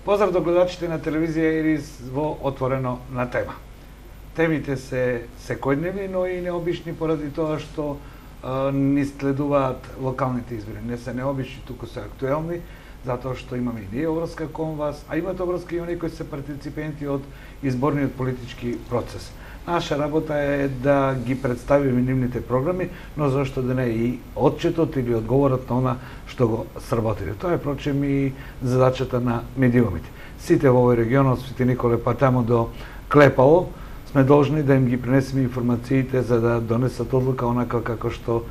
Поздрав до гледачите на телевизија Ирис во Отворено на тема. Темите се секојдневни, но и необични поради тоа што ни следуваат локалните избори. Не се необични, туку се актуелни, затоа што имаме и ние обврска кон вас, а имате обврска и оние кои се партиципенти од изборниот политички процес. Наша работа е да ги представиме нивните програми, но зашто да не и отчетот или одговорот на она што го сработиле. Тоа е прочем и задачата на медиумите. Сите во овој регион, од Свети Николе па тамо до Клепало, сме должни да им ги пренесеме информациите за да донесат одлука онака како што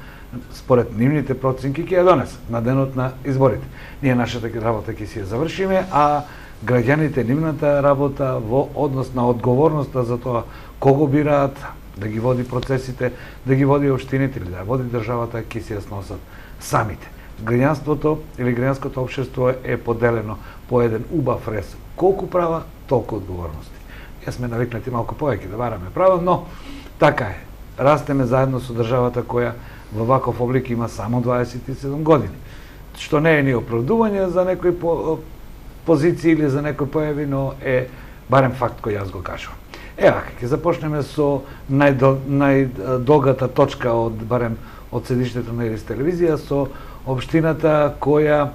според нивните проценки ќе ја донесат на денот на изборите. Ние нашата работа ќе си ја завршиме, а граѓаните нивната работа во однос на одговорноста за тоа кого бираат, да ги води процесите, да ги води општините или да води државата, ќе си ја сносат самите. Граѓанството или граѓанското општество е поделено по еден убав рез. Колку права, толку одговорности. Ја сме навикнати малку повеќе да бараме права, но така е. Растеме заедно со државата која во ваков облик има само 27 години. Што не е ни оправдување за некои позиции или за некои појави, но е барем факт кој јас го кажувам. Ева, ќе започнеме со најдолгата точка барем од седиштето на Ирис телевизија, со општината која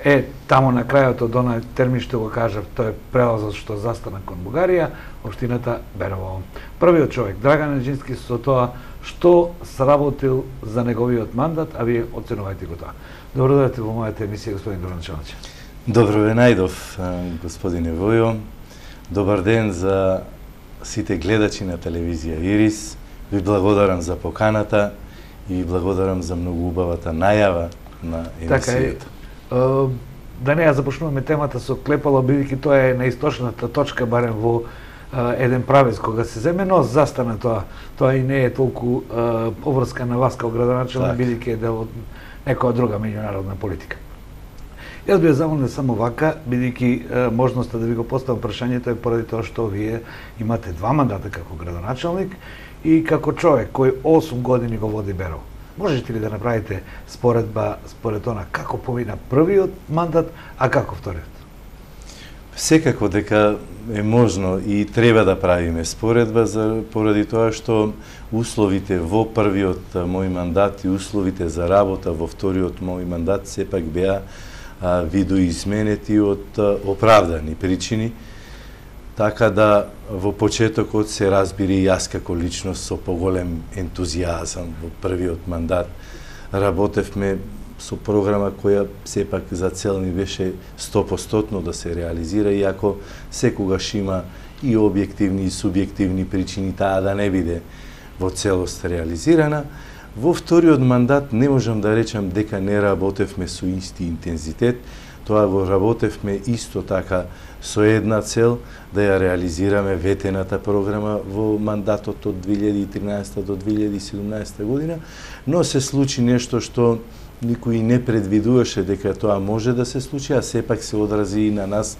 е тамо на крајот од онај термин што го кажав, тоа е прелазот што застана кон Бугарија, општината Берово. Првиот човек, Драган Неџински, со тоа што сработил за неговиот мандат, а вие оценувајте го тоа. Добро дојдете во мојата емисија, господин градоначалник. Добро ве најдов, господине Војо. Добар ден за сите гледачи на телевизија Ирис. Ви благодарам за поканата и ви благодарам за многу убавата најава на емисијата. Да не ја започнуваме темата со Клепало, бидејќи тоа е наисточната точка, барем во еден правец кога се земе, но застана тоа. Тоа и не е толку поврска на вас као градоначалник, бидејќи е дел од некоја друга меѓународна политика. Јас би ја замолил само вака, бидејќи можноста да ви го поставам прашањето е поради тоа што вие имате 2 мандата како градоначалник и како човек кој 8 години го води Берово. Можете ли да направите споредба според она како помина првиот мандат, а како вториот? Секако дека е можно и треба да правиме споредба поради тоа што условите во првиот мој мандат и условите за работа во вториот мој мандат сепак беа видоизменети од оправдани причини, така да во почетокот се разбери јас како личност со поголем ентузијазам во првиот мандат работевме со програма која сепак за цел ни беше 100% да се реализира, иако секогаш има и објективни и субјективни причини таа да не биде во целост реализирана. Во вториот мандат не можам да речам дека не работевме со исти интензитет, тоа го работевме исто така со една цел да ја реализираме ветената програма во мандатот од 2013 до 2017 година, но се случи нешто што никој не предвидуваше дека тоа може да се случи, а сепак се одрази и на нас,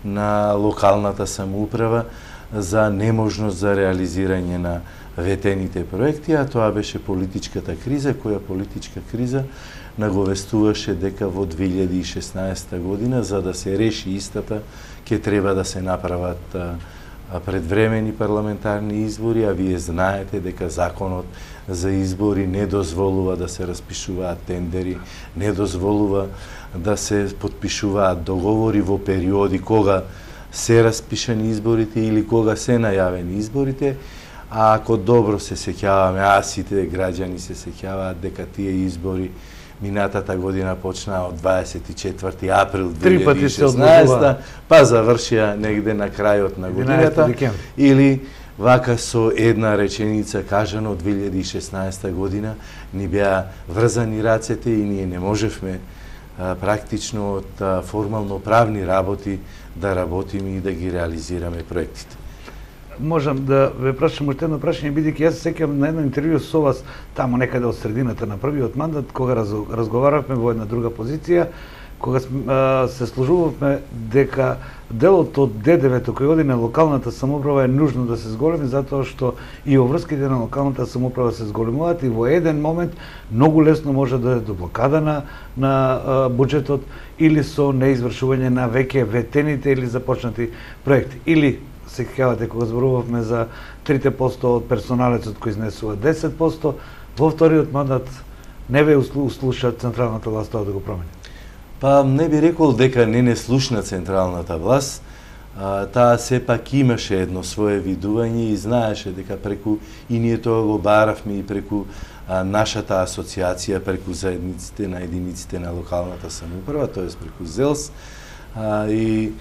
на локалната самоуправа, за неможност за реализирање на ветените проекти, а тоа беше политичката криза, која политичка криза наговестуваше дека во 2016 година, за да се реши истата, ќе треба да се направат предвремени парламентарни избори, а вие знаете дека законот за избори не дозволува да се распишуваат тендери, не дозволува да се потпишуваат договори во периоди кога се распишани изборите или кога се најавени изборите, а ако добро се сеќаваме, а сите граѓани се сеќаваат дека тие избори минатата година почнаа од 24 април 2016, па завршија негде на крајот на годината, или вака со една реченица кажано од 2016 година ни беа врзани рацете и ние не можевме практично од формално правни работи да работиме и да ги реализираме проектите. Можам да ве прашам уште едно прашање, бидејќи јас се сеќавам на едно интервју со вас тамо некаде од средината на првиот мандат, кога разговаравме во една друга позиција, кога се сложувавме дека делот од ДДВ-то кој оди на локалната самоуправа е нужно да се зголеми, затоа што и обврските на локалната самоуправа се зголемуваат и во еден момент многу лесно може да е до блокада на буџетот или со неизвршување на веќе ветените или започнати проекти. Или се сеќавате кога зборувавме за 3% од персоналецот кој изнесува 10%, во вториот мандат не ве услуша централната власт тоа да го промени. Па не би рекол дека не слушна централната власт, таа сепак имаше едно свое видување и знаеше дека преку, и ние тоа го баравме и преку нашата асоциација, преку заедниците на единиците на локалната самоуправа, тоест преку ЗЕЛС, и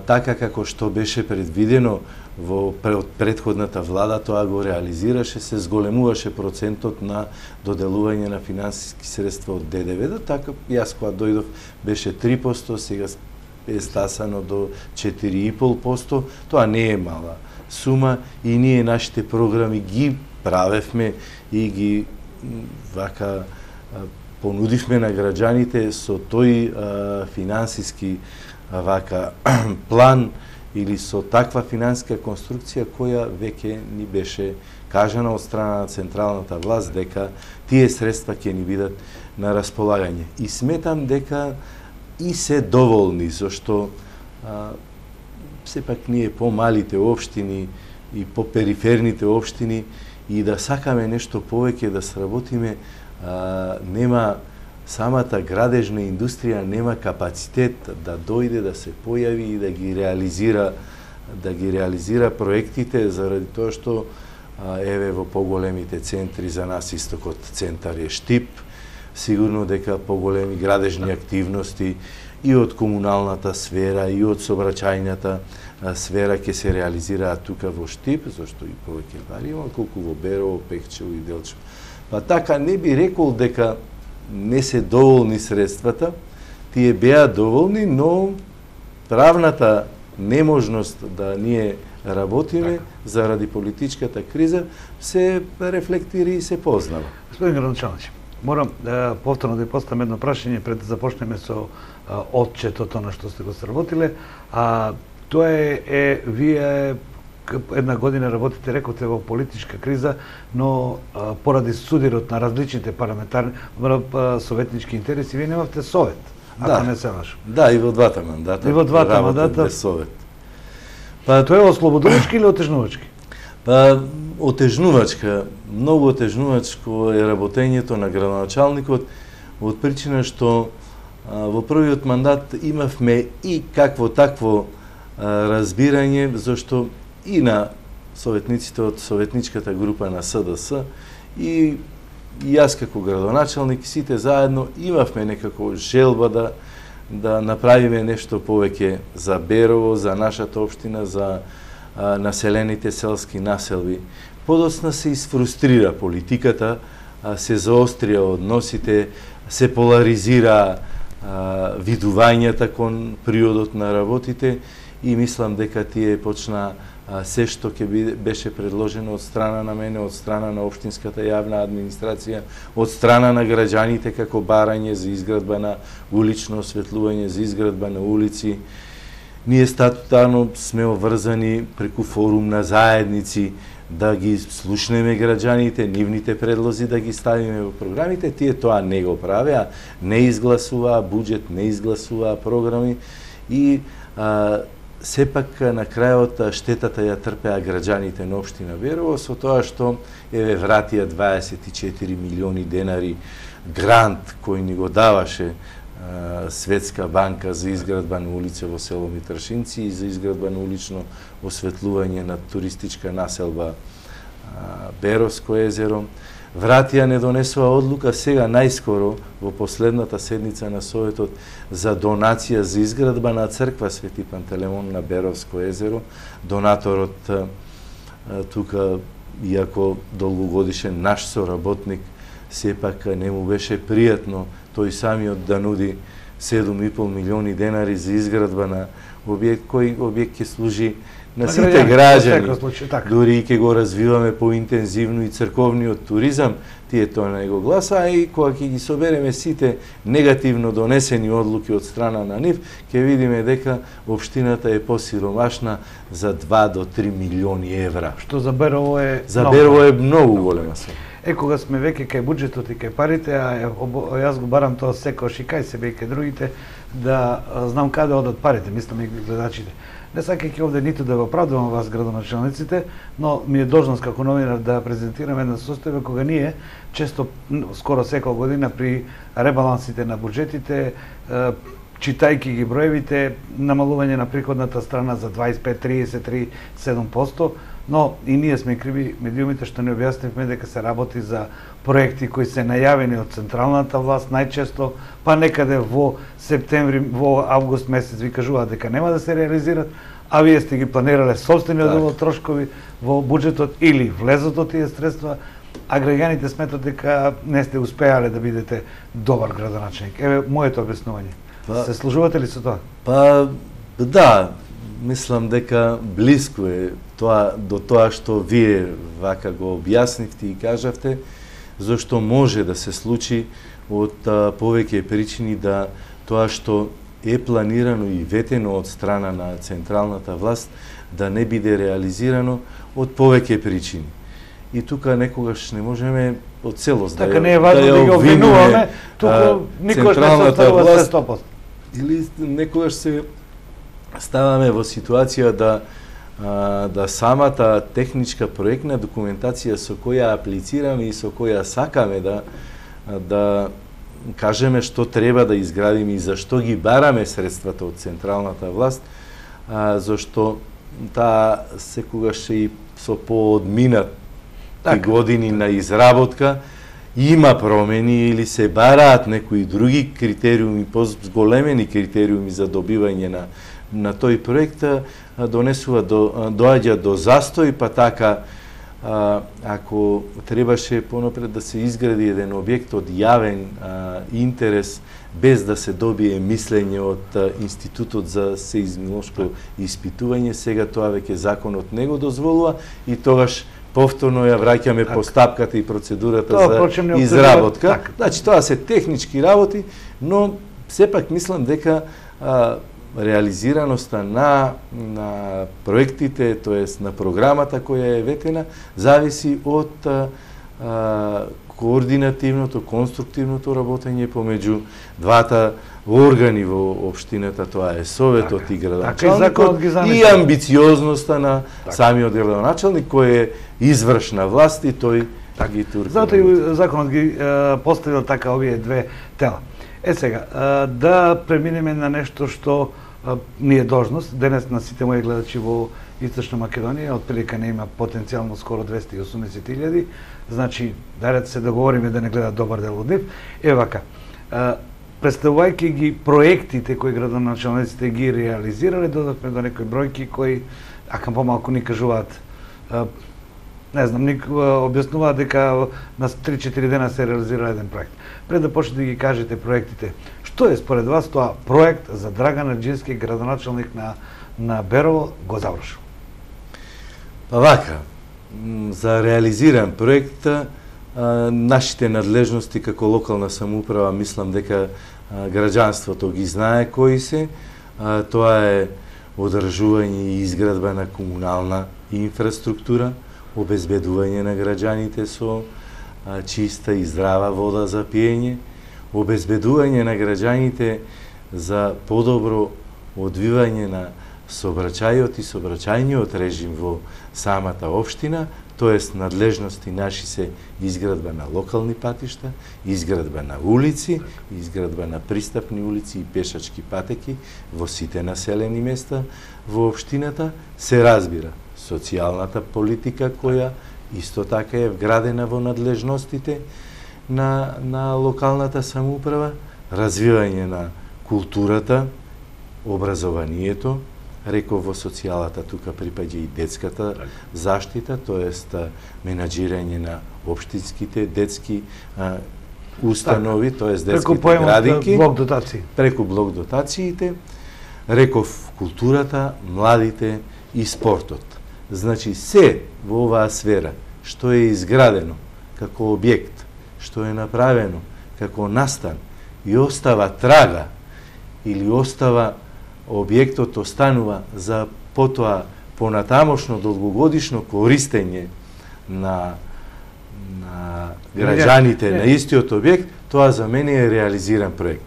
така како што беше предвидено во предходната влада, тоа го реализираше, се зголемуваше процентот на доделување на финансиски средства од ДДВ, така јас кога дојдов беше 3%, сега е стасано до 4,5%, тоа не е мала сума и ние нашите програми ги правевме и ги вака понудивме на граѓаните со тој финансиски вака план или со таква финансиска конструкција која веќе ни беше кажана од страна на централната власт дека тие средства ќе ни бидат на располагање. И сметам дека и се доволни, зашто сепак ние помалите општини и по периферните општини и да сакаме нешто повеќе да сработиме, нема самата градежна индустрија нема капацитет да дојде, да се појави и да ги реализира проектите, заради тоа што еве во поголемите центри за нас истокот центар е Штип, сигурно дека поголеми градежни активности и од комуналната сфера и од сообраќајната сфера ќе се реализираат тука во Штип, зашто и повеќе пари има колку во Берово, Пекчево и Делчево. Па така не би рекол дека не се доволни средствата, тие беа доволни, но правната неможност да ние работиме заради политичката криза се рефлектира и се познава. Господин градоначалник, морам повторно да поставам едно прашање пред да започнеме со отчетот на што сте го сработиле. Тоа е вие една година работите, рекоте, во политичка криза, но поради судирот на различните парламентарни советнички интереси, вие немавте совет, ако не се лажам. Да, и во двата мандата. И во двата мандата без совет. Па тоа е ослободувачки или отежнувачки? Па отежнувачка, многу отежнувачко е работењето на градоначалникот од причина што во првиот мандат имавме и какво такво разбирање, зашто и на советниците од советничката група на СДС и јас како градоначалник, сите заедно имавме некако желба да направиме нешто повеќе за Берово, за нашата општина, за населените селски населби. Подоцна се изфрустрира политиката, се заострија односите, се поларизира видувањата кон приодот на работите и мислам дека тие почна се што ќе беше предложено од страна на мене, од страна на општинската јавна администрација, од страна на граѓаните како барање за изградба на улично осветлување, за изградба на улици. Ние статутарно сме обврзани преку форум на заедници да ги слушнеме граѓаните, нивните предлози да ги ставиме во програмите. Тие тоа не го правеа, не изгласуваа буџет, не изгласуваа програми и сепак на крајот штетата ја трпеа граѓаните на општина Берово со тоа што еве вратија 24 милиони денари грант кој ни го даваше Светска банка за изградба на улица во село Митршинци и за изградба на улично осветлување на туристичка населба Беровско езеро. Вратија не донесува одлука сега најскоро во последната седница на Советот за донација за изградба на црква Свети Пантелемон на Беровско езеро. Донаторот тука, иако долгогодишен наш соработник, сепак не му беше пријатно тој самиот да нуди 7,5 милиони денари за изградба на објект, кој објект ќе служи на сите граѓани. Дури и ќе го развиваме поинтензивно и црковниот туризам, тие тоа не го гласа, а и кога ќе ги собереме сите негативно донесени одлуки од страна на нив, ќе видиме дека општината е посиромашна за 2 до 3 милиони евра. Што за Берово е многу голема сума. Кога сме веќе кај буџетот и кај парите, јас го барам тоа секојаш и кај себе и кај другите, да знам каде одат парите, мислам и гледачите. Не сакајќи овде ниту да го оправдувам вас, градоначалниците, но ми е должност како новинар да презентирам една состојба кога ние често, скоро секоја година при ребалансите на буџетите, читајќи ги броевите, намалување на приходната страна за 25, 30, 37%, но и ние сме криви медиумите што не објаснивме дека се работи за проекти кои се најавени од централната власт најчесто, па некаде во септември, во август месец ви кажуваат дека нема да се реализират, а вие сте ги планирале собствениот дел од трошкови во буџетот или влезот од тие средства, а граѓаните сметат дека не сте успеале да бидете добар градоначалник. Еве моето објаснување. Се служувате ли со тоа? Па да, мислам дека блиску е тоа до тоа што вие вака го објаснивте и кажавте, зашто може да се случи од повеќе причини да тоа што е планирано и ветено од страна на централната власт да не биде реализирано од повеќе причини. И тука некогаш не можеме од целост така не е важно да ги обвинуваме, туку никогаш не се оставува се 100%. Или некогаш се ставаме во ситуација да самата техничка проектна документација со која аплицираме и со која сакаме да кажеме што треба да изградиме и зашто ги бараме средствата од централната власт, зашто таа секогаш и со поодминат години на изработка има промени или се бараат некои други критериуми, позголемени критериуми за добивање на тој проект, доаѓа до застој, па така ако требаше понапред да се изгради еден објект од јавен интерес без да се добие мислење од Институтот за сеизмолошко испитување, сега тоа веќе законот не го дозволува и тогаш повторно ја враќаме постапката и процедурата за изработка. Значи тоа се технички работи, но сепак мислам дека реализираноста на проектите, тоест на програмата која е ветена, зависи од координативното, конструктивното работење помеѓу двата органи во општината, тоа е Советот и градоначалникот, и амбициозноста на самиот градоначалник кој е извршна власт и тој ги турка. Затоа и законот ги поставил така овие две тела. Сега, да преминеме на нешто што ни е должност. Денес на сите мои гледачи во Источна Македонија, отприлика не има потенцијално скоро 280.000, значи, дарете се договориме да не гледат добар дел од нив. Вака, представувајќи ги проектите кои градоначалниците ги реализирале, додавме до некои бројки кои, ака помалку ни кажуваат, не знам, ни објаснуваат дека на 3-4 дена се реализира еден проект. Пред да почнете да ги кажете проектите, што е според вас тоа проект за Драган Ерџински, градоначалник на Берово, го завршил? Па вака, за реализиран проект, нашите надлежности како локална самоуправа, мислам дека граѓанството ги знае кои се. Тоа е одржување и изградба на комунална инфраструктура, обезбедување на граѓаните со чиста и здрава вода за пиење, обезбедување на граѓаните за подобро одвивање на сообраќајот и сообраќајниот режим во самата општина, тоест надлежности наши се изградба на локални патишта, изградба на улици, изградба на пристапни улици и пешачки патеки во сите населени места во општината, се разбира социјалната политика која исто така е вградена во надлежностите на локалната самоуправа, развивање на културата, образованието, реков во социјалата тука припаѓа и детската заштита, тоест менаџирање на општинските детски установи, тоест детските градинки, преку блок дотации. Преку блок дотациите, реков културата, младите и спортот. Значи се во оваа сфера што е изградено како објект, што е направено како настан и остава трага или остава објектот останува за потоа понатамошно долгогодишно користење на граѓаните на истиот објект, тоа за мене е реализиран проект.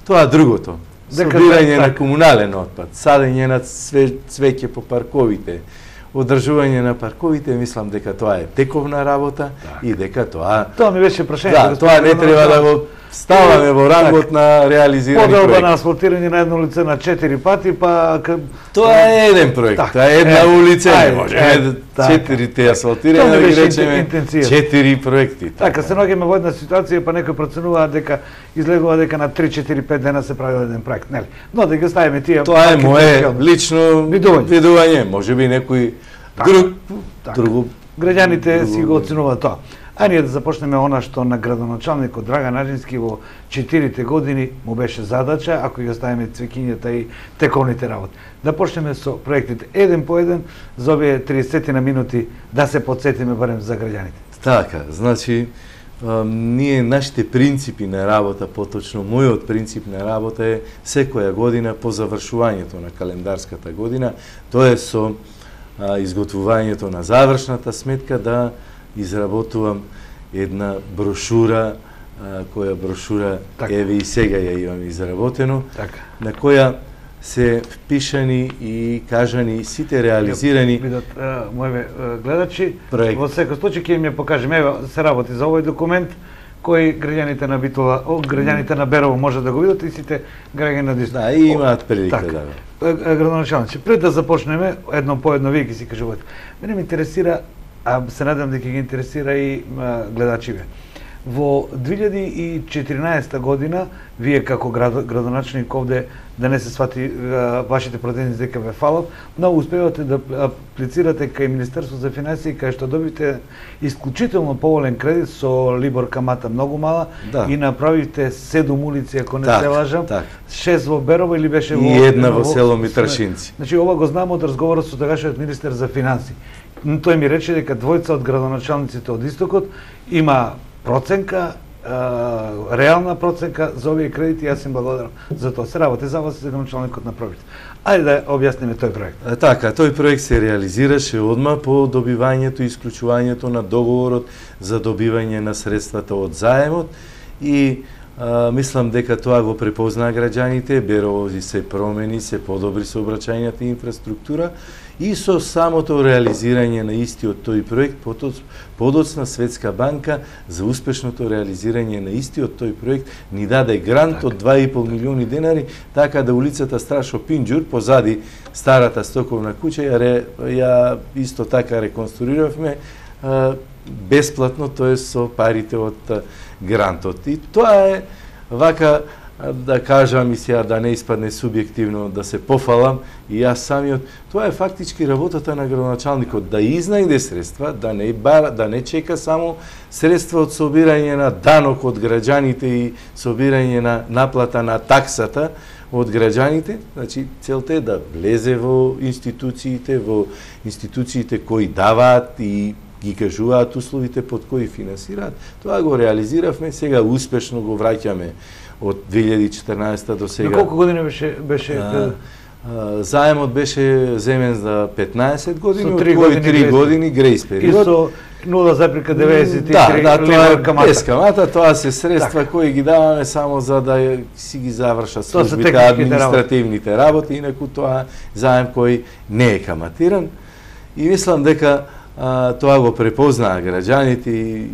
Тоа другото, собирање на комунален отпад, садење на цвеќе по парковите, одржување на парковите, мислам дека тоа е тековна работа и дека тоа... Тоа ми беше прашање. Да, тоа не треба да го ставаме во рангот на реализирани проект. Поделба на асфалтирање на едно лице на 4 пати, па... Тоа е еден проект, тоа е една улица, не може 4 асфалтирање, да ги речеме 4 проекти. Така, се наоѓаме во една ситуација, па некој проценува дека излегува дека на 3-4-5 дена се прави еден проект, нели? Но да ги ставиме тие... Тоа е мое лично видување, можеби некој друг... Граѓаните си го оценуваат тоа. А ние да започнеме она што на градоначалникот Драган Аџински во 4 години му беше задача, ако ги оставиме цвеќињата и тековните работи. Да почнеме со проектите еден по еден за овие 30 на минути да се подсетиме барем за граѓаните. Така, значи ние нашите принципи на работа, поточно мојот принцип на работа е секоја година по завршувањето на календарската година, тоа е со изготвувањето на завршната сметка да изработувам една брошура, која брошура еве и сега ја имам изработено, на која се впишани и кажани сите реализирани видат моје гледачи. Во секој случај ќе им ја покажеме, еве се работи за овој документ кој граѓаните на Битола, граѓаните на Берово може да го видат и сите граѓани на Дисток. Да, и имаат прилика да. Градоначалниче, пред да започнеме едно по едно вие ќе си кажувате. Мене ме интересира, а се надам дека ги интересира и гледачиве. Во 2014 година, вие како градоначалник овде, да не се свати вашите претензии дека ве фалат, но успевате да аплицирате кај Министерство за финансии, кај што добите исклучително поволен кредит со либор камата многу мала и направите 7 улици, ако не се лажам, 6 во Берово или беше во... И една во село Митрашинци. Значи, ова го знам од разговорот со тогашниот министер за финансии. Тој ми рече дека двојца од градоначалниците од Истокот има проценка, реална проценка за овие кредити, јас им благодарам за тоа. Се работи за вас и за градоначалникот на проект. Ајде да објасниме тој проект. Така, тој проект се реализираше одма по добивањето и исклучувањето на договорот за добивање на средствата од заемот и мислам дека тоа го препознаа граѓаните, Берово се промени, се подобри сообраќајната инфраструктура и со самото реализирање на истиот тој проект подоцна Светска банка за успешното реализирање на истиот тој проект ни даде грант од 2,5 милиони денари, така да улицата Страшо Пинџур позади старата стоковна куќа ја исто така реконструиравме бесплатно, тоа е со парите од грантот. И тоа е вака да кажам и сега да не испадне субјективно да се пофалам и јас самиот, тоа е фактички работата на градоначалникот да изнајде средства, да не чека само средства од собирање на данок од граѓаните и собирање на наплата на таксата од граѓаните, значи целта е да влезе во институциите кои даваат и ги кажуваат условите под кои финансираат. Тоа го реализиравме, сега успешно го враќаме од 2014 до сега. На колку години беше заемот беше земен за 15 години, од кои 3 години грејс период. И со 0,93 левар камата. Без камата, тоа се средства кои ги даваме само за да си ги завршат службите, административните работи, инаку тоа заем кој не е каматиран. И мислам дека тоа го препознаа граѓаните и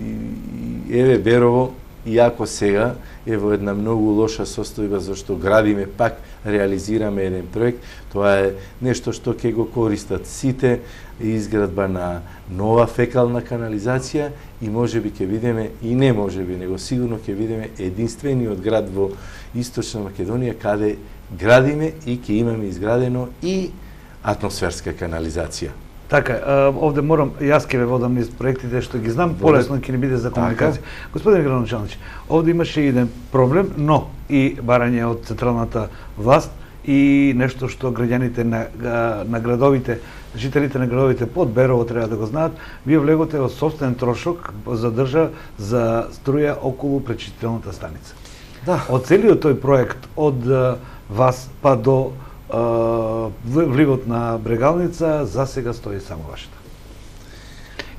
еве Берово, иако сега е во една многу лоша состојба зашто градиме, пак реализираме еден проект, тоа е нешто што ќе го користат сите, изградба на нова фекална канализација и можеби ќе видиме, и не можеби, него сигурно ќе видиме единствениот град во Источна Македонија каде градиме и ќе имаме изградено и атмосферска канализација. Така, овде морам, јас ќе ве водам низ проектите што ги знам, полесно ќе ни биде за комуникација. Господин градоначалник, овде имаше еден проблем, но и барање од централната власт и нешто што граѓаните на градовите, жителите на градовите под Берово треба да го знаат, вие влеготе од сопствен трошок за струја околу пречистителната станица. Да. Од целиот тој проект од вас па до вливот на Брегалница за сега стои само вашата.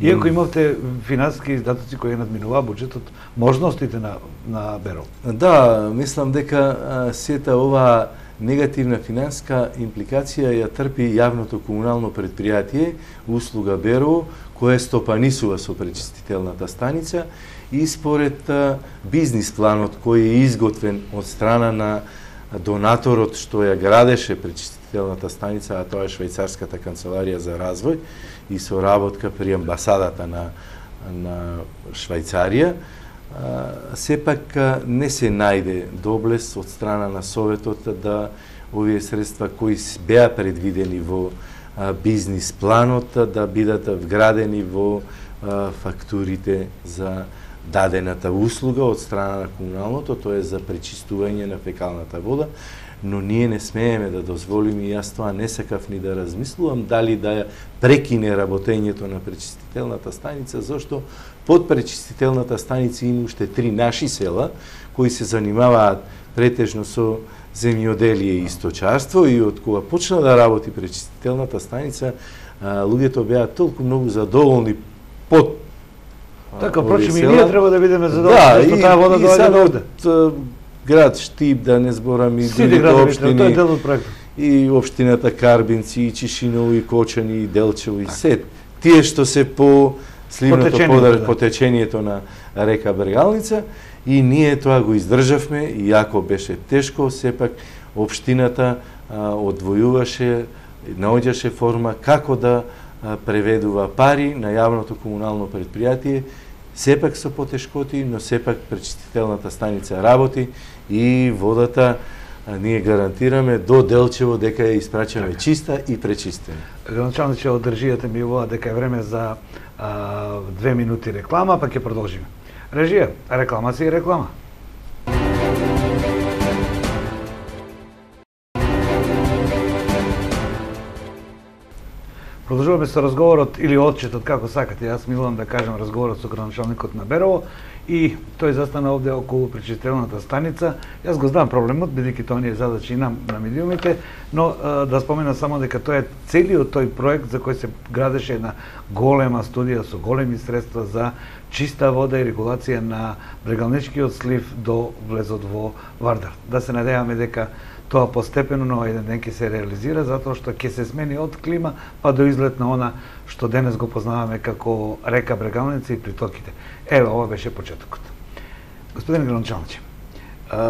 Иако имавте финансиски издатоци кои надминуваа буџетот, можностите на Берово. Да, мислам дека сета оваа негативна финансиска импликација ја трпи јавното комунално предпријатие Услуга Берово, кое стопанисува со пречистителната станица и според бизнис планот кој е изготвен од страна на донаторот што ја градеше пречистителната станица, а тоа е Швајцарската канцеларија за развој и соработка при амбасадата на Швајцарија, сепак не се најде доблес од страна на Советот да овие средства кои беа предвидени во бизнис планот да бидат вградени во фактурите за дадената услуга од страна на комуналното, тоа е за пречистување на фекалната вода, но ние не смееме да дозволиме, и јас тоа не сакав ни да размислувам, дали да ја прекине работењето на пречистителната станица, зашто под пречистителната станица има уште 3 наши села, кои се занимаваат претежно со земјоделие и сточарство, и од кога почна да работи пречистителната станица, луѓето беа толку многу задоволни под така, впрочем, и ние треба да бидеме задоволни, што таа вода доаѓа овде. Град Штип, да не зборам и другите општини, тоа е дел од проектот. И општината Карбинци, и Чишиново, и Кочани, и Делчево, и сет. Тие што се по сливното по течењето на река Брегалница, и ние тоа го издржавме, иако беше тешко, сепак општината одвојуваше, наоѓаше форма како да преведува пари на јавното комунално предпријатие, сепак со потешкоти, но сепак пречистителната станица работи и водата ние гарантираме до Делчево дека ја испрачаме чиста и пречистена. Градоначалниче, од режијата ми јавува дека е време за 2 минути реклама, па ќе продолжиме. Режија, рекламација и реклама. Продолжуваме со разговорот или отчетот, како сакате. Јас милувам да кажам разговорот со градоначалникот на Берово и тој застана овде околу пречистителната станица. Јас го знам проблемот, бидејќи тоа не е задача и на медиумите, но да спомена само дека тоа е целиот тој проект за кој се градеше една голема студија со големи средства за чиста вода и регулација на Брегалничкиот слив до влезот во Вардар. Да се надеваме дека тоа постепено на еден ден ќе се реализира, затоа што ќе се смени од клима па до изглед на она што денес го познаваме како река Брегалница и притоките. Ева, ова беше почетокот. Господин градоначалниче,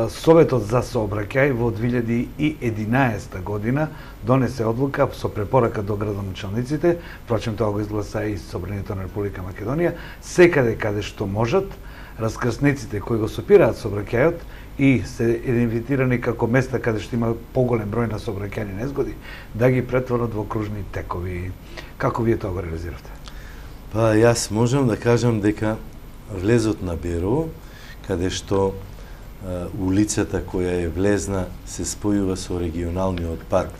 Советот за сообраќај во 2011 година донесе одлука со препорака до градоначалниците, впрочем тоа го изгласа и Собранието на Република Македонија, секаде каде што можат, раскрсниците кои го сопираат сообраќајот и се идентифицирани како места каде што има поголем број на сообраќајни незгоди, да ги претворат во кружни текови. Како вие тоа го реализиравте? Па јас можам да кажам дека влезот на Берово, каде што улицата која е влезна се спојува со регионалниот пат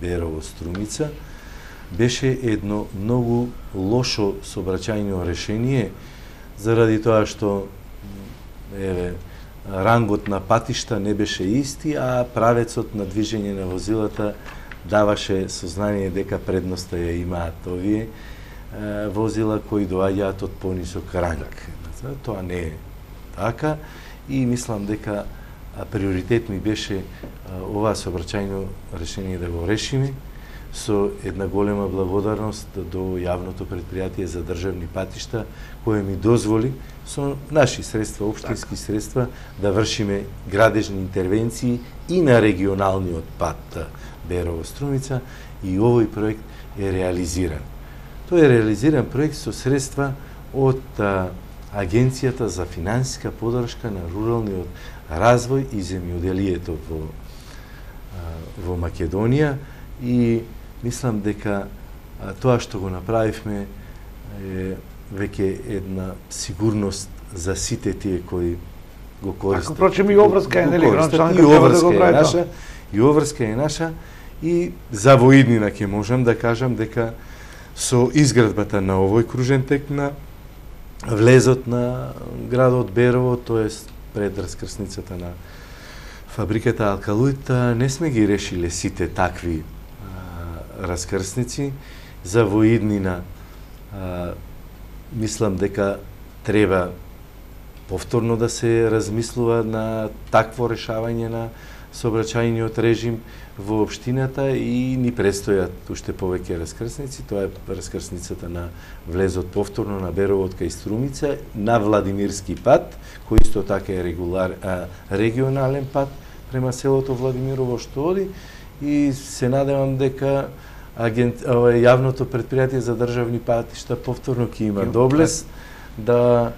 Берово-Струмица, беше едно многу лошо сообраќајно решение, заради тоа што рангот на патишта не беше исти, а правецот на движење на возилата даваше сознание дека предноста ја имаат овие возила кои доаѓаат од понисок ранг. Тоа не е така и мислам дека приоритет ми беше ова сообраќајно решение да го решиме со една голема благодарност до јавното предпријатие за државни патишта, кое ми дозволи со наши средства, општински средства, да вршиме градежни интервенции и на регионалниот пат Берово-Струмица, и овој проект е реализиран. Тој е реализиран проект со средства од Агенцијата за финансиска поддршка на руралниот развој и земјоделието во Македонија, и мислам дека тоа што го направивме е веќе една сигурност за сите тие кои го користат. Впрочем и обврска е, нели, градоначалникот треба да го прави тоа. и Оврска е наша, и за во иднина ќе можам да кажам дека со изградбата на овој кружен тек на влезот на градот Берово, тоест пред раскрсницата на фабриката Алкалуит, не сме ги решиле сите такви раскрсници. За во иднина мислам дека треба повторно да се размислува на такво решавање на сообраќајниот режим во општината и ни престојат уште повеќе раскрсници. Тоа е раскрсницата на влезот повторно на Берово кај Струмица, на Владимирски пат, кој исто така е регионален пат према селото Владимирово што оди, и се надевам дека јавното предпријатие за државни патишта повторно ќе има доблес да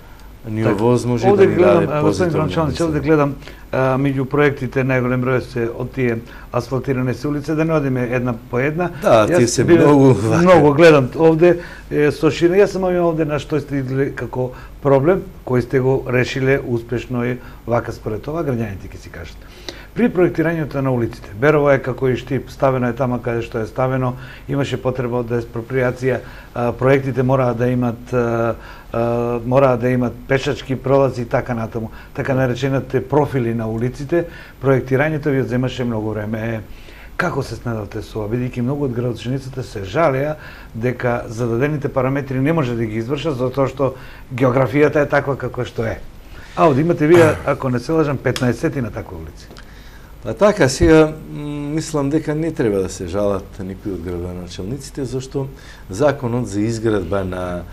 ни овозможи да ни даде позитивно. Овде гледам меѓу проектите најголем број се од тие асфалтирани се улице, да не одиме една по една. Да, тие се многу гледам овде со ширина. Јас сам имам овде на што сте видели како проблем кој сте го решиле успешно и вака според това граѓаните ќе си кажат. При проектирањето на улиците, Берово е како и Штип, ставено е тама каде што е ставено, имаше потреба од експроприација, проектите мораа да имат пешачки пролази и така натаму, така наречените профили на улиците. Проектирањето ви земаше многу време. Како се снедавте со ова, бидејќи многу од градочиниците се жалеа дека зададените параметри не може да ги извршат затоа што географијата е таква како што е. А овде имате вие, ако не се лажам, 15 на такви улици. Па така, сега мислам дека не треба да се жалат никои од градоначалниците, зашто законот за изградба на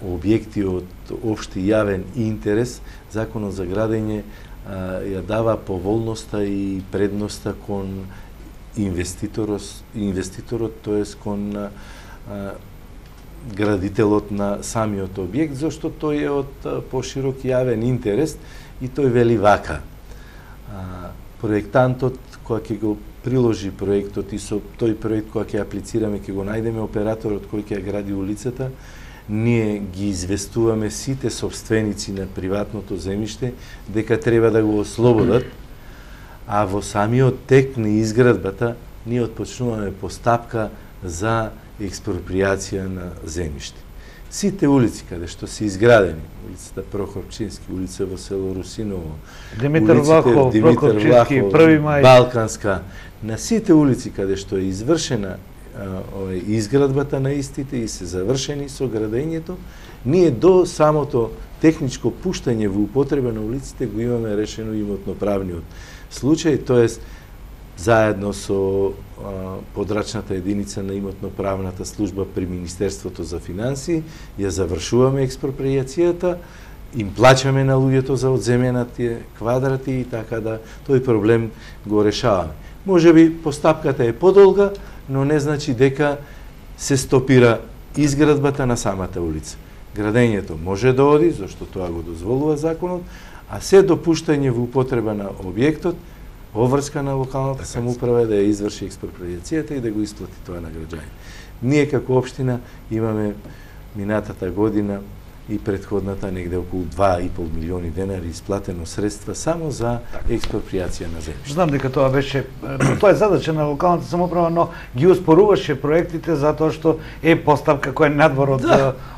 објекти од општи јавен интерес, законот за градење ја дава поволноста и предноста кон инвеститорот, тоест кон градителот на самиот објект, зашто тој е од поширок јавен интерес и тој вели вака. Проектантот, која ќе го приложи проектот и со тој проект која ќе аплицираме, ќе го најдеме операторот кој ќе ја гради улицата, ние ги известуваме сите собственици на приватното земјиште дека треба да го ослободат, а во самиот тек на изградбата ние отпочнуваме постапка за експроприација на земјиште. Сите улици каде што се изградени, улицата Прохорчински, улица во село Русиново, Димитар Влахов, Прохорчински, Први мај, Балканска, на сите улици каде што е извршена изградбата на истите и се завршени со градењето, ние до самото техничко пуштање во употреба на улиците го имаме решено имотно-правниот случај, тоест заедно со подрачната единица на имотно-правната служба при Министерството за финансии, ја завршуваме експроприацијата, им плачаме на луѓето за одземенатите квадрати и така да тој проблем го решаваме. Може би постапката е подолга, но не значи дека се стопира изградбата на самата улица. Градењето може да оди, зашто тоа го дозволува законот, а се допуштање во употреба на објектот, оврска на локалната самоуправа да ја изврши експроприацијата и да го исплати тоа на граѓаните. Ние како општина имаме минатата година и претходната негде околу 2,5 милиони денари исплатено средства само за експроприација на земјиште. Знам дека тоа беше, тоа е задача на локалната самоуправа, но ги успоруваше проектите затоа што е постапка која е надвор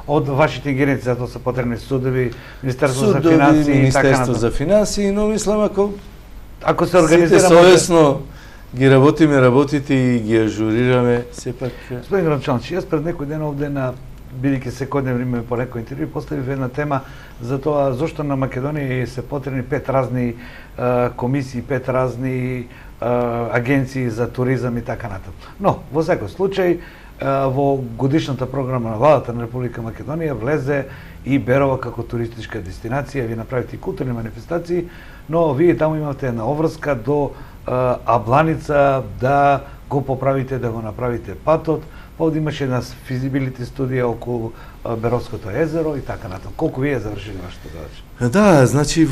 од вашите ингеренции, затоа се потребни судови, Министерство за финансии и така Министерство за финансии, но мислам ако се организира сите совесно ги работиме работите и ги ажурираме, сепак. Господин Гранчанч, јас пред некој ден овде на бидејќи секојдневно имаме по некој интервју, поставив една тема за тоа зошто на Македонија се потребни 5 разни комисии, 5 разни агенции за туризам и така натаму. Но во секој случај во годишната програма на владата на Република Македонија влезе и Берово како туристичка дестинација, ви направите и културни манифестации, но вие таму имате една обврска до Абланица да го поправите, да го направите патот. Овде имаше една физибилити студија околу Беровското езеро и така натаму. Колку вие завршили вашата задача? Да, значи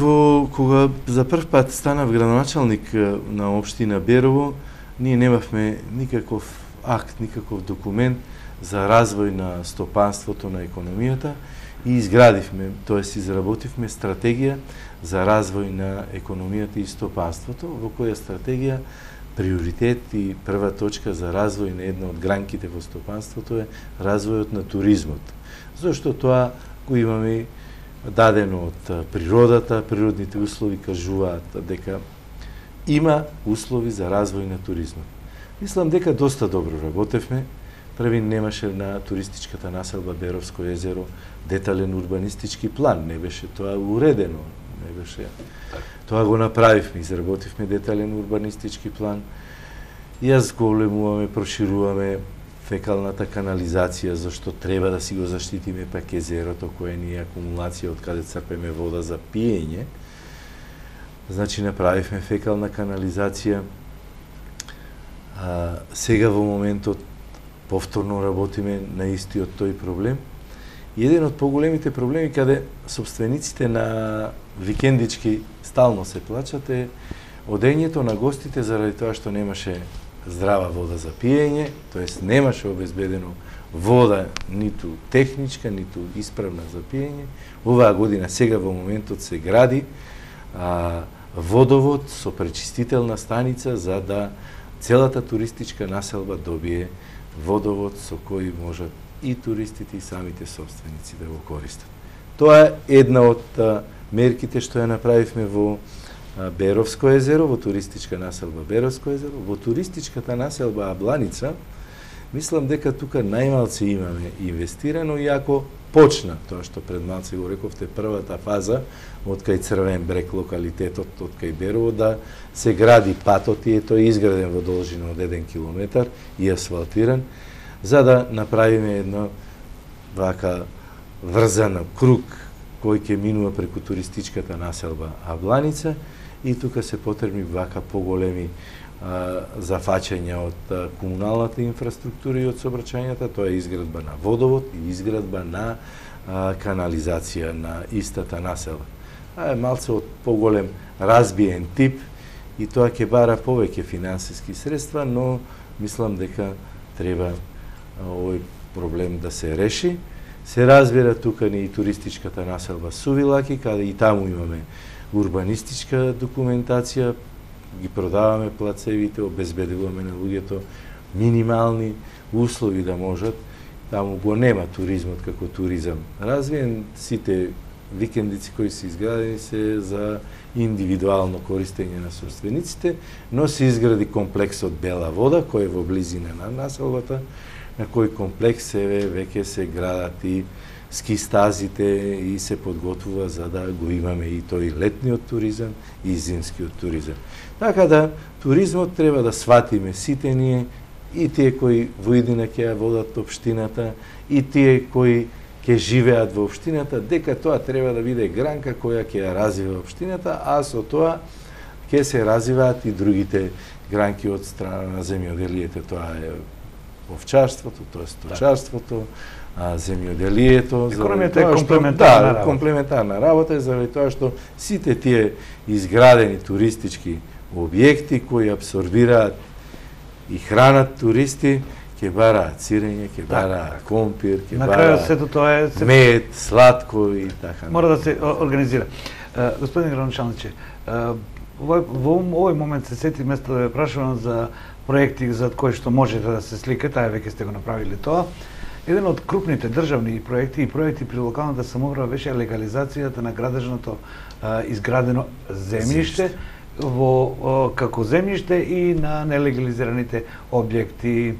кога за прв пат станав градоначалник на општина Берово, ние немавме никаков акт, никаков документ за развој на стопанството, на економијата и изградивме, тоест изработивме стратегија за развој на економијата и стопанството, во која стратегија приоритет и прва точка за развој на една од гранките во стопанството е развојот на туризмот. Зошто тоа го имаме дадено од природата, природните услови кажуваат дека има услови за развој на туризмот. Мислам дека доста добро работевме. Први немаше на туристичката населба Беровско езеро детален урбанистички план, не беше тоа уредено, не беше. Тоа го направивме, изработивме детален урбанистички план. Јас големуваме, прошируваме фекалната канализација, зашто треба да си го заштитиме пак езерото, кое ни е акумулација од каде црпеме вода за пиење. Значи направивме фекална канализација. Сега во моментот повторно работиме на истиот тој проблем. И еден од поголемите проблеми каде собствениците на викендички стално се плачат е одењето на гостите заради тоа што немаше здрава вода за пиење, тоест немаше обезбедено вода ниту техничка, ниту исправна за пиење. Оваа година сега во моментот се гради водовод со пречистителна станица за да целата туристичка населба добие водовод со кој можат и туристите и самите собственици да го користат. Тоа е една од мерките што ја направивме во Беровско езеро, во туристичка населба Беровско езеро, во туристичката населба Абланица. Мислам дека тука најмалце имаме инвестирано, иако почна тоа што пред малце го рековте, првата фаза од кај Црвен брег локалитетот, од кај Берово, да се гради патот и тој изграден во должина од 1 километар и асфалтиран, за да направиме едно вака врзан круг кој ќе минува преку туристичката населба Абланица и тука се потребни вака поголеми зафаќања од комуналната инфраструктура и од сообраќајната, тоа е изградба на водовод и изградба на канализација на истата населба. Е малце од поголем разбиен тип и тоа ќе бара повеќе финансиски средства, но мислам дека треба овој проблем да се реши. Се разбира тука ни и туристичката населба Сувилаки, каде и таму имаме урбанистичка документација, ги продаваме плацевите, обезбедуваме на луѓето минимални услови да можат. Таму го нема туризмот како туризам развиен, сите викендици кои се изградени се за индивидуално користење на собствениците, но се изгради комплексот Бела вода, кој е во близина на населбата, на кој комплекс веќе се градат и ски стазите и се подготвува за да го имаме и тој летниот туризам и зимскиот туризам. Така да туризмот треба да сватиме сите ние, и тие кои во иднина ќе ја водат општината, и тие кои ќе живеат во општината, дека тоа треба да биде гранка која ќе ја развива општината, а со тоа ќе се развиваат и другите гранки од страна на земјоделието. Тоа е овчарството, тоа е сточарството, земјоделието. Економијата е комплементарна работа. Комплементарна работа е заради тоа што сите тие изградени туристички објекти кои абсорбираат и хранат туристи, ќе бараат сирење, ќе бараат компир, ќе бараат мед, сладко и така. Мора да се организира. Господин градоначалниче, во овој момент се сети место да ве прашувам за проекти за кои што можете да се сликате, а веќе сте го направиле тоа. Еден од крупните државни проекти и проекти при локалната самоуправа беше легализацијата на градежното изградено земјиште како земјиште и на нелегализираните објекти.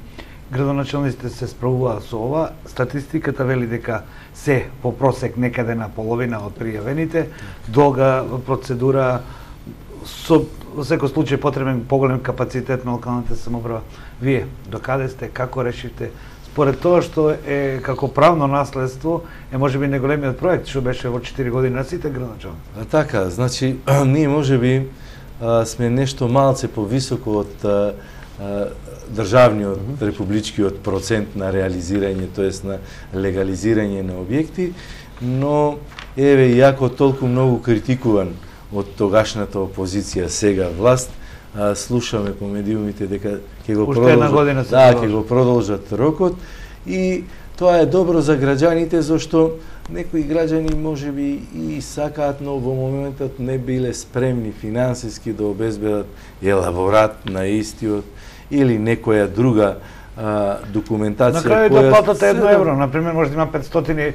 Градоначалниците се справуваат со ова. Статистиката вели дека се по просек некаде на половина од пријавените, долга процедура, во секој случај потребен поголем капацитет на локалната самоуправа. Вие докаде сте, како решивте? Според тоа што е како правно наследство, е можеби најголемиот проект што беше во 4 години на сите градоначалници. Така, значи ние можеби сме нешто малце повисоко од државниот, републичкиот процент на реализирање, тоест на легализирање на објекти, но еве, иако толку многу критикуван од тогашната опозиција, сега власт, слушаме по медиумите дека ќе го продолжат, го продолжат рокот и тоа е добро за граѓаните зашто некои граѓани можеби и сакаат, но во моментот не биле спремни финансиски да обезбедат елаборат на истиот или некоја друга документација. На крајот да платате 1 евро, например, може да има 500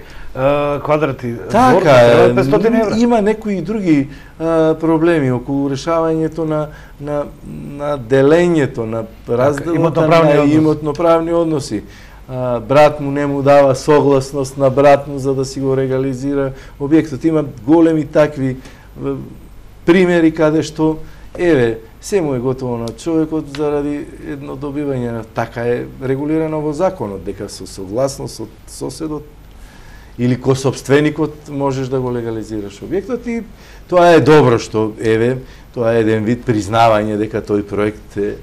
квадрати. Така, 500 евро. Има некои други проблеми околу решавањето на делењето, на разделото на имотно-правни односи. Брат му не му дава согласност на брат му за да си го регализира објектот. Има големи такви примери каде што се му е готово на човекот заради едно добивање. Така е регулирано во законот, дека со согласност од соседот или косопственикот можеш да го легализираш објектот и тоа е добро што тоа е еден вид признавање дека тој проект е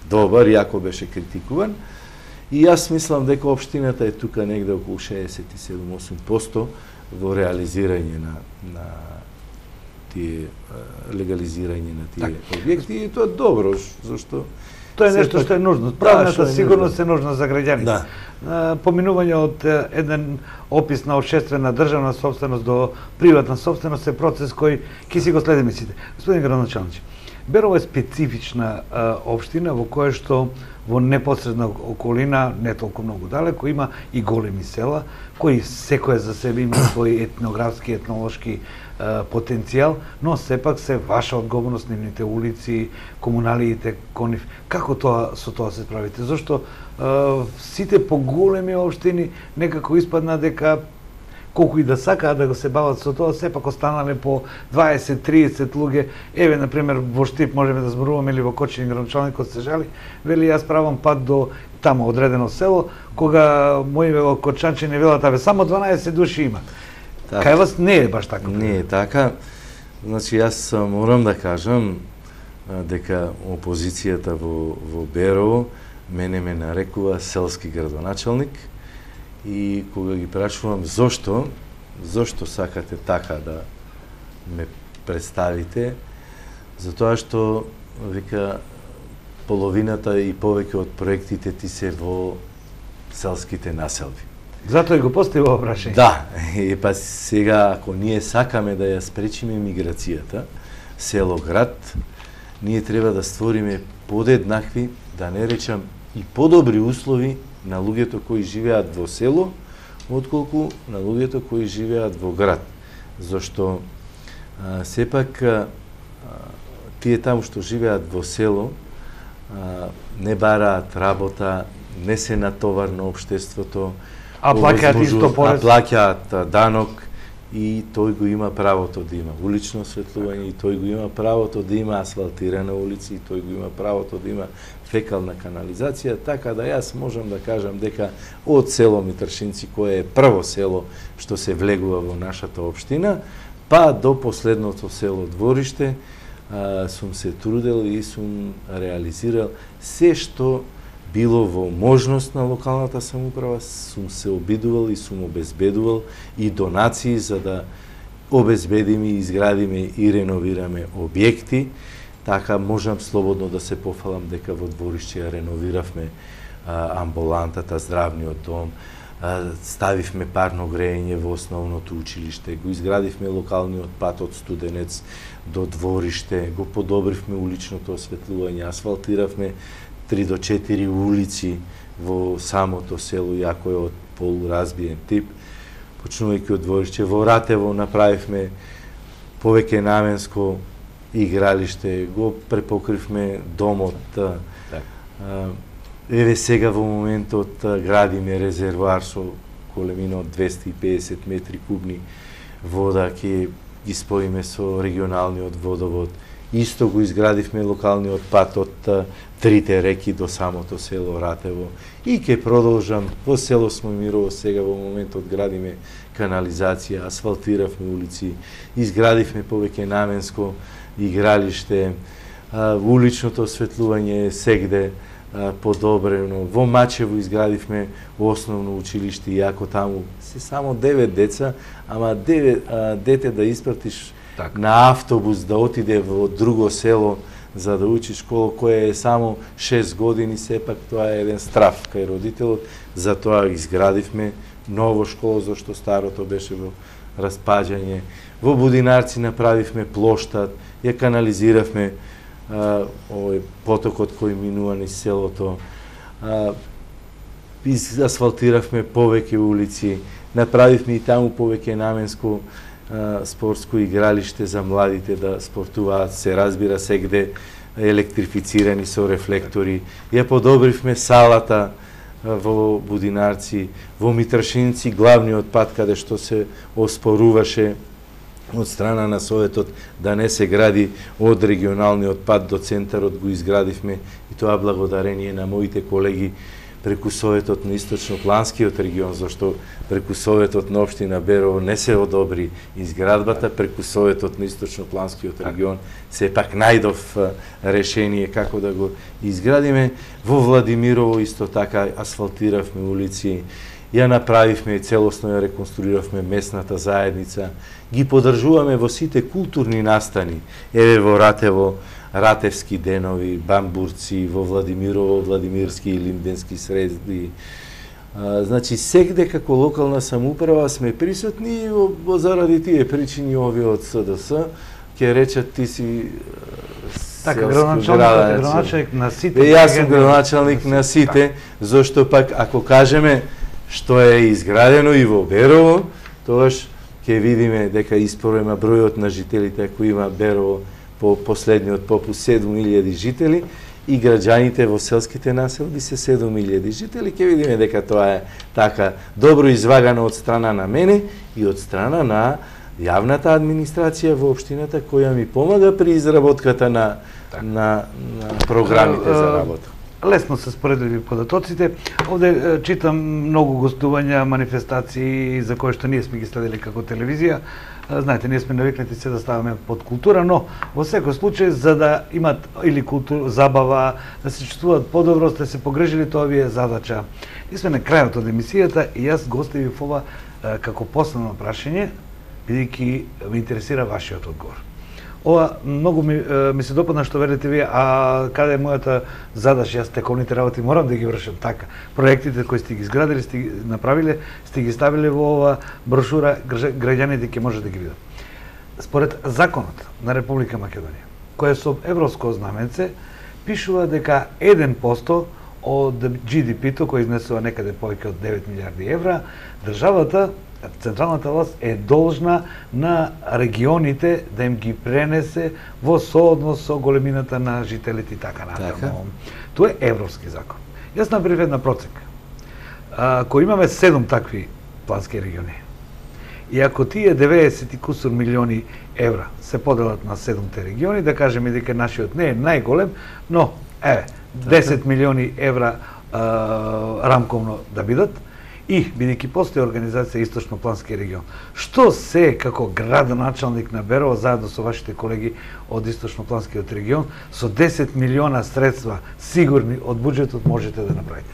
добар, иако беше критикуван. И јас мислам дека општината е тука негде околу 67-8% во реализирање на тие легализирање на тие објекти и тоа е добро, зашто тоа е нешто што е нужно. Правната сигурност е нужна за граѓаните. Поминување од еден опис на општествена државна собственост до приватна собственост е процес кој ќе си го следиме сите. Господин градоначалник, Берово е специфична општина во која што во непосредна околина, не толку многу далеко, има и големи села, кои секоја за себе има свој етнографски, етнолошки потенцијал, но сепак се ваша одговорност, нивните улици, комуналиите кон нив. Како со тоа се справите? Зошто сите поголеми општини некако испадна дека колку и да сакаат да го се бават со тоа, сепак останале по 20-30 луѓе. Еве, например, во Штип можеме да зборуваме или во Кочини, градоначалникот се жали, вели јас правам пат до тамо одредено село, кога мои кочанчини велат, абе само 12 души има. Кај вас не е баш така? Не е така. Значи, јас морам да кажам дека опозицијата во Берово мене ме нарекува селски градоначалник и кога ги прашувам зошто сакате така да ме представите, затоа што вика половината и повеќе од проектите ти се во селските населби. Затоа и го постави ова прашање. Да, па сега ако ние сакаме да ја спречиме миграцијата, село-град, ние треба да створиме подеднакви, да не речам и подобри услови на луѓето кои живеат во село, отколку на луѓето кои живеат во град. Зашто сепак тие таму што живеат во село не бараат работа, не се натовар на општеството, а плаќаат исто порез, плаќаат данок и тој го има правото да има улично осветлување, и тој го има правото да има асфалтирана улици, и тој го има правото да има фекална канализација, така да јас можам да кажам дека од село Митршинци, кое е прво село што се влегува во нашата општина, па до последното село Двориште, сум се трудел и сум реализирал се што било во можност на локалната самоуправа, сум се обидувал и сум обезбедувал и донации за да обезбедиме, изградиме и реновираме објекти. Така можам слободно да се пофалам дека во Двориште ја реновиравме амбулантата, здравниот дом, ставивме парно грејење во основното училиште, го изградивме локалниот пат од Студенец до Двориште, го подобривме уличното осветлување, асфалтиравме 3 до 4 улици во самото село, иако е од полуразбиен тип. Почнувајќи од Двориште, во Ратево направивме повеќе наменско игралиште, го препокривме домот. Еве сега во моментот градиме резервоар со големина од 250 метри кубни вода, ќе ги споиме со регионалниот водовод. Исто го изградивме локалниот пат од трите реки до самото село Ратево и ќе продолжам во село Смоимирово. Сега во моментот градиме канализација, асфалтиравме улици, изградивме повеќе наменско игралиште, уличното осветлување е сегде подобрено. Во Мачево изградивме основно училиште, иако таму се само 9 деца, ама 9 дете да испратиш на автобус да отиде во друго село за да учи школа која е само 6 години, сепак тоа е еден страф кај родителот, затоа изградивме ново школа, зашто старото беше во распаѓање. Во Будинарци направивме плоштад, ја канализиравме овој потокот кој минува низ селото, асфалтиравме повеќе улици, направивме и таму повеќе наменско спортско игралиште за младите да спортуваат, се разбира сегде електрифицирани со рефлектори. Ја подобривме салата во Будинарци, во Митршинци, главниот пат каде што се оспоруваше од страна на Советот да не се гради од регионалниот пат до центарот, го изградивме, и тоа благодарение на моите колеги преку Советот на Источно-Планскиот регион, зашто преку Советот на општина Берово не се одобри изградбата, преку Советот на Источно-Планскиот регион сепак најдов решение како да го изградиме. Во Владимирово исто така асфалтиравме улици, ја направивме и целосно ја реконструиравме местната заедница, ги поддржуваме во сите културни настани, еве во Ратево, Ратевски денови, бамбурци, во Владимирово, Владимирски и лимденски среди. Значи, сегде како локална самоуправа сме присутни и заради тие причини овие од СДС ќе речат ти си така градоначалник на сите. Јас сум градоначалник на сите, зашто пак ако кажеме што е изградено и во Берово, тогаш ќе видиме дека испорема бројот на жителите кои има Берово по последниот попус 7.000 жители и граѓаните во селските населби се 7.000 жители, ќе видиме дека тоа е така добро извагано од страна на мене и од страна на јавната администрација во општината која ми помага при изработката на програмите за работа. Лесно се споредливи податоците. Овде читам многу гостувања, манифестации за кои што ние сме ги следили како телевизија. Знаете, ние сме навикнати се да ставаме под култура, но во секој случај за да имат или култура, забава, да се чувствуваат подобро, сте се погрежили, тоа ви е задача. И сме на крајот од емисијата и јас го оставив ова како последно прашање, бидејќи ме интересира вашиот одговор. Ова многу ми се допадна што велите вие, а каде е мојата задача, јас тековните работи морам да ги вршам така. Проектите кои сте ги изградили, сте ги направиле, сте ги ставиле во ова брошура, граѓаните ќе може да ги видат. Според законот на Република Македонија, кој е со европско знаменце, пишува дека 1% од GDP-то, кој изнесува некаде повеќе од 9 милиарди евра, државата, централната власт е должна на регионите да им ги пренесе во сооднос со големината на жителите и така натаму. Тоа е европски закон. Јас направив една проценка. Ако имаме 7 такви плански региони, и ако тие 90 и кусур милиони евра се поделат на 7-те региони, да кажеме дека нашиот не е најголем, но 10 милиони евра рамковно да бидат, и, бидејќи постои организација Источно-Плански регион, што се како градоначалник на Берово, заедно со вашите колеги од Источно-Планскиот регион, со 10 милиона средства сигурни од буџетот можете да направите?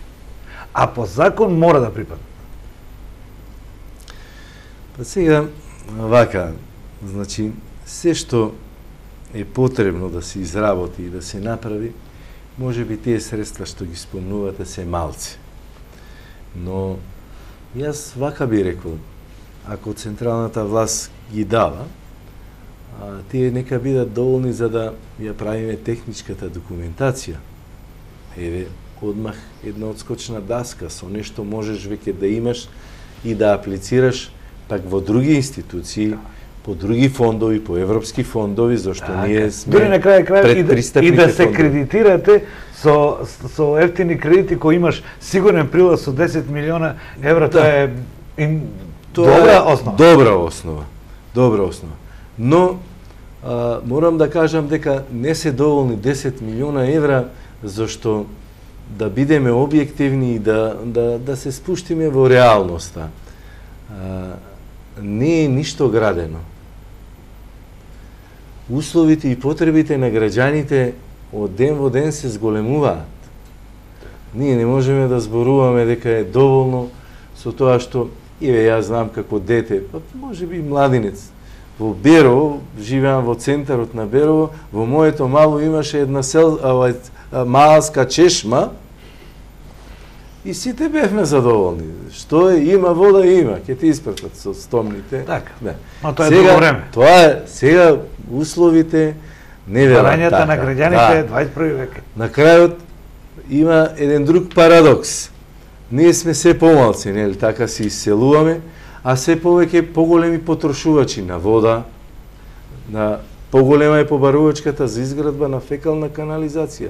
А по закон мора да припадне. Па сега, вака, значи, се што е потребно да се изработи и да се направи, може би тие средства што ги спомнувате се малци. Но јас вака би рекол, ако централната власт ги дава, тие нека бидат доволни за да ја правиме техничката документација. Еве, одмах една одскочна даска, со нешто можеш веќе да имаш и да аплицираш пак во други институции, по други фондови, по европски фондови, зашто ние сме дури на крај предпристапните и да се фондови. кредитирате со ефтини кредити кои имаш сигурен прилаз со 10 милиона евра, тоа е добра основа. Добра основа. Но морам да кажам дека не се доволни 10 милиона евра, зашто да бидеме објективни и да се спуштиме во реалноста. Не е ништо градено. Условите и потребите на граѓаните од ден во ден се зголемуваат. Ние не можеме да зборуваме дека е доволно со тоа што, еве, јас знам како дете, па може би младинец, во Берово, живеам во центарот на Берово, во моето мало имаше една малска чешма и сите бевме задоволни. Што е, има вода, има, ќе ти испратат со стомните. Така. Да. Но тоа е друго време. Тоа е сега условите не велат Барањата така. на граѓаните Да. 21 век. На крајот има еден друг парадокс. Ние сме се помалци, нели, така се исселуваме, а се повеќе поголеми потрошувачи на вода, на поголема е побарувачката за изградба на фекална канализација.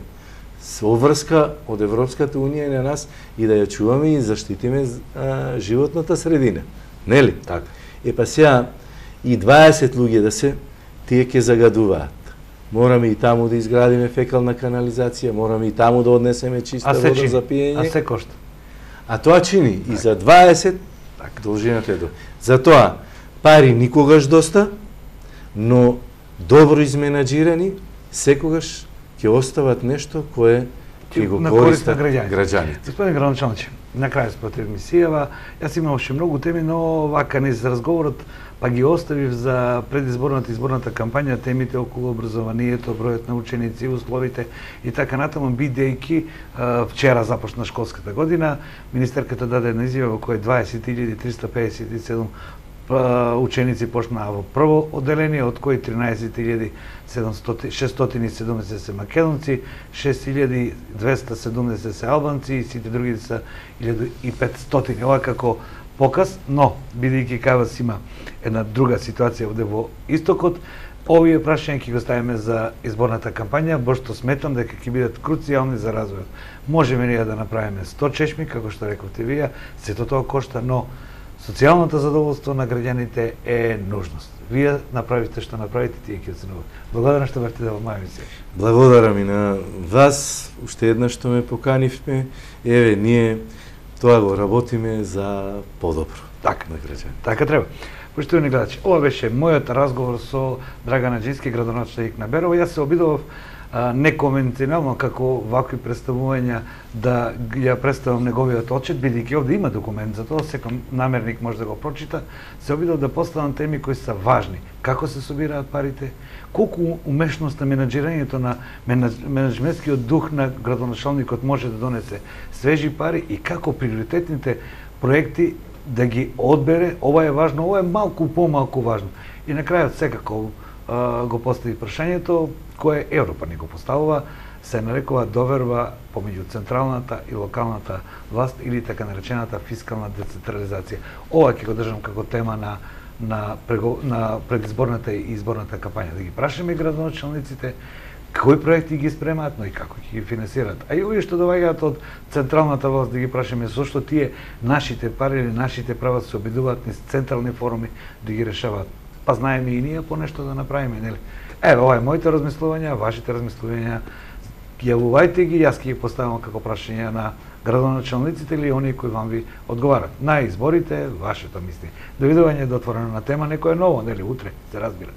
Со врска од Европската унија на нас и да ја чуваме и заштитиме животната средина. Нели? Така. Па сега и 20 луѓе да се, тие ќе загадуваат. Мораме и таму да изградиме фекална канализација, мораме и таму да однесеме чиста вода за пиење. А се кошта. А тоа чини и за 20 должината е до. Затоа пари никогаш доста, но добро изменаџирани секогаш ќе остават нешто кое ќе го користат граѓаните. Господин градоначалниче, на крај според емисијава, јас имавше многу теми, но вака низ разговорот па ги оставив за предизборната и изборната кампања темите околу образованието, бројот на ученици, условите и така натаму, бидејќи вчера започна школската година, министерката даде една изјава во која 20.357 ученици почнаа во прво одделение, од кои 13.670 се македонци, 6.270 се албанци и сите други се 1.500. Ова како показ, но бидејќи кај вас има една друга ситуација овде во истокот, овие прашања ќе го ставиме за изборната кампања, бошто сметам дека ќе бидат круцијални за развојот. Можеме ние да направиме 100 чешми, како што рековте вие, сето тоа кошта, но социјалното задоволство на граѓаните е нужност. Вие направите што направите, тие ќе оценуваат. Благодарам што бевте во моја емисија. Благодарам и на вас, уште еднаш што ме поканивме. Еве, ние тоа го работиме за подобро така на граѓаните. Така треба. Поштовани гледачи, ова беше мојот разговор со Драган Аџински, градоначелник на Берово. Јас се обидов неконвенционално како вакви представувања да ја представам неговиот отчет, бидејќи овде има документ за тоа, секој намерник може да го прочита. Се обидов да поставам теми кои се важни. Како се собираат парите, колку умешност на менаџирањето на менаџментскиот дух на градоначалникот може да донесе свежи пари и како приоритетните проекти да ги одбере. Ова е важно, ова е малку помалку важно. И на крајот секако го постави прашањето кое Европа ни го поставува, се нарекува доверба помеѓу централната и локалната власт или така наречената фискална децентрализација. Ова ќе го држам како тема на предизборната и изборната кампања. Да ги прашаме градоначалниците кои проекти ги спремаат, но и како ќе ги финансираат. А и овие што доаѓаат од централната власт да ги прашаме зошто тие нашите пари или нашите права се обидуваат низ централни форуми да ги решаваат. Па знаеме и ние по нешто да направиме, нели? Еве, ова е моите размислувања, вашите размислувања, јавувајте ги, јас ќе ги поставам како прашања на градоначалниците или оние кои вам ви одговарат. На изборите, вашето мисли. Довидување до отворена на тема, некој е ново, нели, утре, се разбира.